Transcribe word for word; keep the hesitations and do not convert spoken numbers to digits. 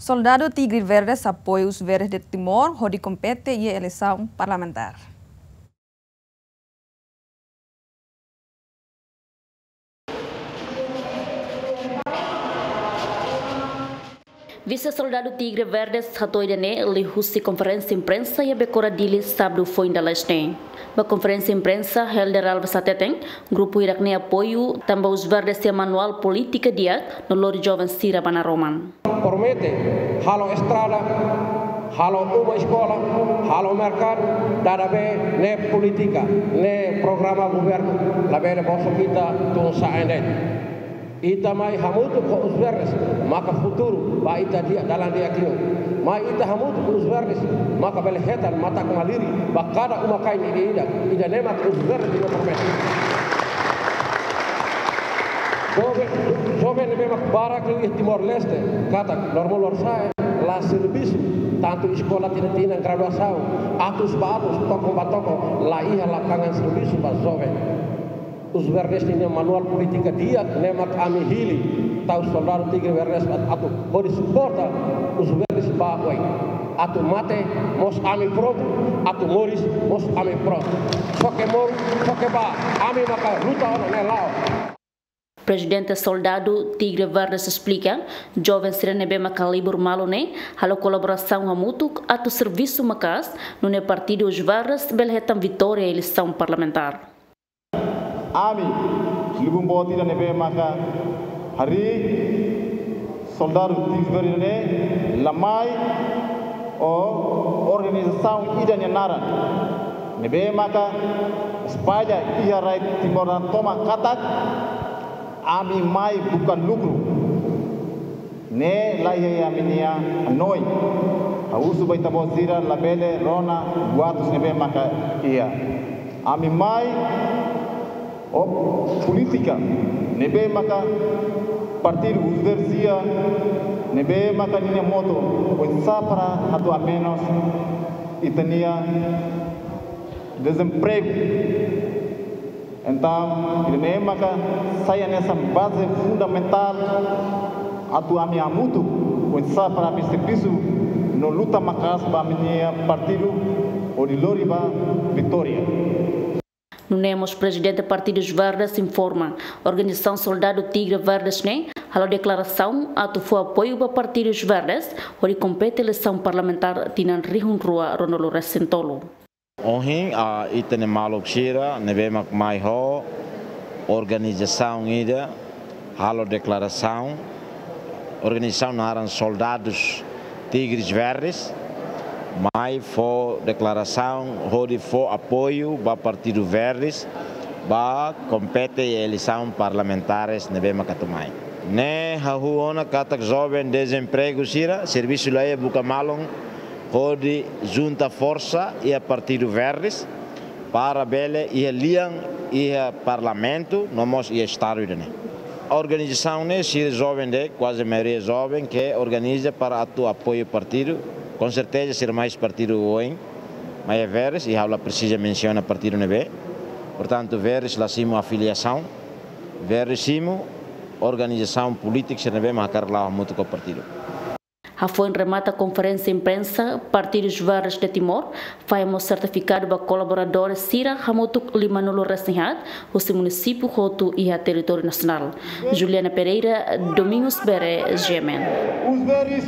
Soldadu Tigre Verdes apoia Os Verdes de Timor hodi kompete iha eleisaun parlamentár. Vise-Soldadu Tigre Verdes hato'o ida-ne'e liuhusi konferénsia imprensa iha Becora Dili, sábadu foin dala haat ne'e. Ba konferénsia imprensa, Helder Alves hateten, grupu hirak-ne'e apoiu tanba Os Verdes iha manuál polítika di'ak no lori joven sira ba naroman. Promete halo estrada, halo uma eskola, halo merkadu, dada be ne'e polítika, ne'e programa governu, labele bosok ita tun sa'e de'it. Ita mai hamutuk ho Os Verdes maka futuru ba ita di'ak, dalan di'ak liu. Mai ita hamutuk ho Os Verdes maka bele hetan matak-malirin ba kada uma-kain ida-idak, ida-ne'e mak Os Verdes nia promete. Joven, joven ne'ebé mak barak liu iha Timor-Leste, katak loron-loron sa'e la servisu, tantu eskola tinan-tinan, graduasaun, atus ba atus, tokon ba tokon, la iha lapangan servisu ba joven. Os Verdes nia manuál polítika di'ak ne'e mak ami hili, tau Soldadu Tigre Verdes atu, atu hodi suporta Os Verdes ba oin. Atu mate mós ami prontu, atu moris mós ami prontu. Xoke moru, xoke bá, ami maka luta ona ne'e la'o. Prezidente Soldadu Tigre Verdes esplika, joven sira ne'ebé maka libur malu ne'e halo kolaborasaun hamutuk atu servisu maka'as, nune'e partidu Os Verdes bele hetan vitória eleisaun parlamentár. Ami, lubun boot ida ne'ebé maka harii Soldadu Tigre Verdes ne'e la mai ho organizasaun ida nia naran, ne'ebé maka espalla iha rai Timor nia tomak katak ami mai buka lukru. Ne'e la iha ami-nia hanoin. Ha'u husu ba ita-boot sira labele rona buatus ne'ebé maka iha. Ami mai ho polítika ne'ebé maka partidu Os Verdes iha, ne'ebé maka ninia moto, oinsá para atu amenus ita-nia dezempregu. Entaun, ida-ne'e maka sai hanesan baze fundamentál atu ami hamutuk, oinsá para ami servisu no luta maka'as ba ami-nia partidu hodi lori ba vitória. Nune'e mós Prezidente Partidu Os Verdes informa, organizasaun Soldadu Tigre Verdes ne'e halo deklarasaun atu fó apoiu ba partidu Os Verdes hodi kompete eleisaun parlamentár tinan rihun rua ruanulu-resin-tolu. Ohin, ah, ita-nia maluk sira ne'ebé mak mai ho organizasaun ida halo deklarasaun, organizasaun naran Soldadus Tigres Verdes, mai fó deklarasaun hodi fó apoiu ba Partidu Verdes ba kompete eleisaun parlamentares ne'ebé mak atu mai. Ne'e hahú ona katak joven dezempregu sira, servisu la iha, buka malu hodi junta forsa iha Partidu Verdes para bele iha lian iha Parlamentu no mós iha Estadu ida-ne'e. Organizasaun ne'e sira joven de'it, kuaze maioria joven ke organiza para atu apoiu partidu. Com certeza sira mai husi partidu oin, maibé Verdes, i ha'u la presiza mensiona partidu ne'ebé. Portantu, Verdes la simu afiliasaun. Verdes simu organizasaun polítika sira ne'ebé mak hakarak la'o hamutuk ho partidu. Hafoin remata konferénsia imprensa, Partidu Os Verdes de Timor fahe mós sertifikadu ba kolaboradores sira hamutuk limanulu-resin-haat husi munisípiu hotu iha territóriu nasionál. Juliana Pereira, Domingos Bere, G M N. Os Verdes.